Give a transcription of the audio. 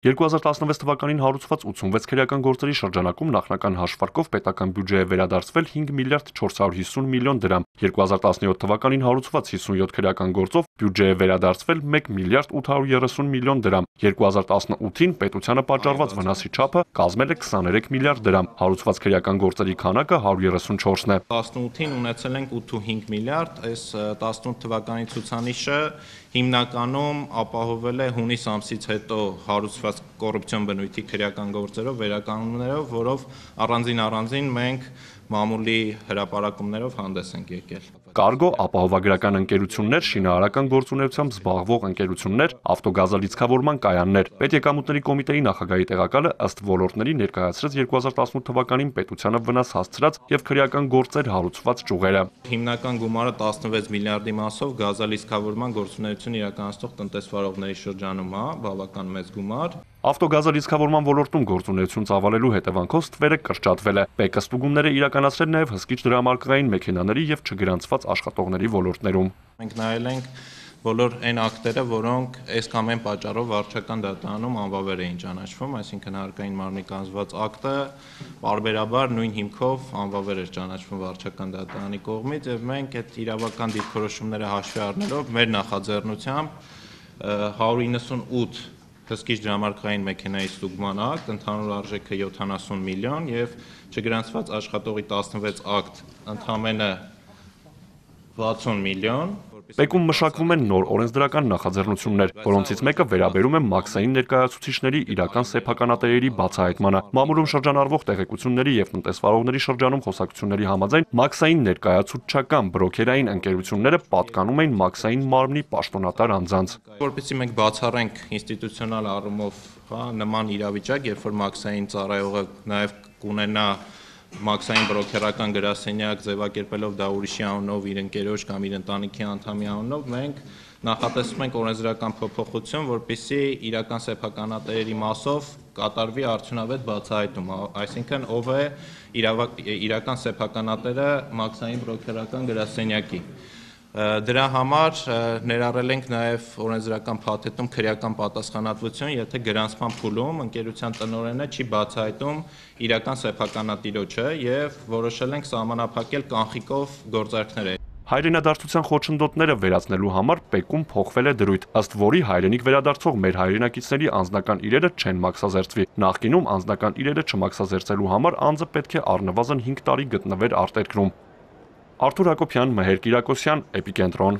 2016 թվականին հարուցված 86 քրեական գործերի շրջանակում նախնական հաշվարկով պետական բյուջեը վերադարձվել 5 միլիարդ 450 միլիոն դրամ, 2017 թվականին հարուցված 57 քրեական գործով բյուջեը վերադարձվել 1 միլիարդ 830 միլիոն դրամ, 2018-ին պետությանը պատճառված վնասի չափը կազմել է 23 միլիարդ դրամ, հարուցված քրեական գործերի քանակը 134-ն է։ 18-ին ունեցել ենք 8.5 միլիարդ, այս 18 թվականի ցուցանիշը հիմնականում ապահովել է հունիս ամսից հետո հարուցված կոռուպցիոն բնույթի քրեական գործերով, վերականգնումներով, որով առանձին մենք մամուլի հրապարակումներով հանդես ենք եկել։ Կարգո, ապահովագրական ընկերություններ, շինարարական գործունեությամբ զբաղվող ընկերություններ, ավտոգազալիցքավորման կայաններ։ Պետեկամուտների կոմիտեի նախագահի տեղակալը ըստ ոլորտների ներկայացրեց 2018 թվականին պետությանը վնաս հասցրած եւ քրեական գործեր հարուցված ճյուղերը։ Հիմնական գումարը 16 միլիարդի մասով գազալիցքավորման գործունեություն իրականացնող տնտեսվարողների շրջանում է, բավական մեծ գումար։ Ավտոգազալիցքավորման ոլորտում գործունեություն ծավալելու հետևանքով ստվերը կրճատվել է։ ՊԿ ստուգումները իրականացրել նաև հսկիչ դրամարկղային մեքենաների եւ չգրանցված աշխատողների ոլորտներում։ Մենք նայել ենք բոլոր այն ակտերը, որոնք այս կամ այն պատճառով վարչական դատարանում անվավեր էին ճանաչվում, այսինքն հարկային մարմնի կանձված ակտը պարբերաբար նույն հիմքով անվավեր էր ճանաչվում վարչական դատարանի կողմից եւ մենք այդ իրավական դիրքորոշումները հաշվի առնելով մեր նախաձեռնությամբ 198 հսկիչ դրամարկղային մեքենայի ստուգման ակտ, ընդհանուր արժեքը 70 միլիոն եւ չգրանցված աշխատողի 16 ակտ, ընդամենը 60 միլիոն։ ՊԿ-ում մշակվում են նոր օրենսդրական նախաձեռնություններ, որոնցից մեկը վերաբերում է մաքսային ներկայացուցիչների իրական սեփականատերերի բացահայտմանը։ Մամուլում շրջանառվող տեղեկությունների եւ տնտեսվարողների շրջանում խոսակցությունների համաձայն մաքսային ներկայացուցչական բրոքերային ընկերությունները պատկանում էին մաքսային մարմնի պաշտոնատար անձանց։ Որպեսզի մենք բացառենք ինստիտուցիոնալ առումով նման իրավիճակ, երբ որ մաքսային ծառայողը նաեւ կունենա մաքսային բրոքերական գրասենյակ ձևակերպելով դա ուրիշի անունով, իր ընկերոջ կամ իր ընտանիքի անդամի անունով, մենք նախատեսում ենք օրենսդրական փոփոխություն, որպեսզի իրական սեփականատերերի մասով կատարվի արդյունավետ բացահայտում, այսինքն ով է իրական սեփականատերը մաքսային բրոքերական գրասենյակի։ Դրա համար ներառել ենք նաև օրենսդրական փաթեթում քրեական պատասխանատվություն, եթե գրանցման փուլում ընկերության տնօրենը չի բացահայտում իրական սեփականատիրոջը եւ որոշել ենք սահմանափակել կանխիկով գործարքները։ Հայրենադարձության խոչընդոտները վերացնելու համար ՊԿ-ում փոխվել է դրույթ, ըստ որի հայրենիք վերադարձող մեր հայրենակիցների անձնական իրերը չեն մաքսազերծվի։ Նախկինում անձնական իրերը չմաքսազերծելու համար անձը պետք է առնվազն 5 տարի գտնվեր արտերկրում։ Արթուր Հակոբյան, Մհեր Կիրակոսյան, Էպիկենտրոն։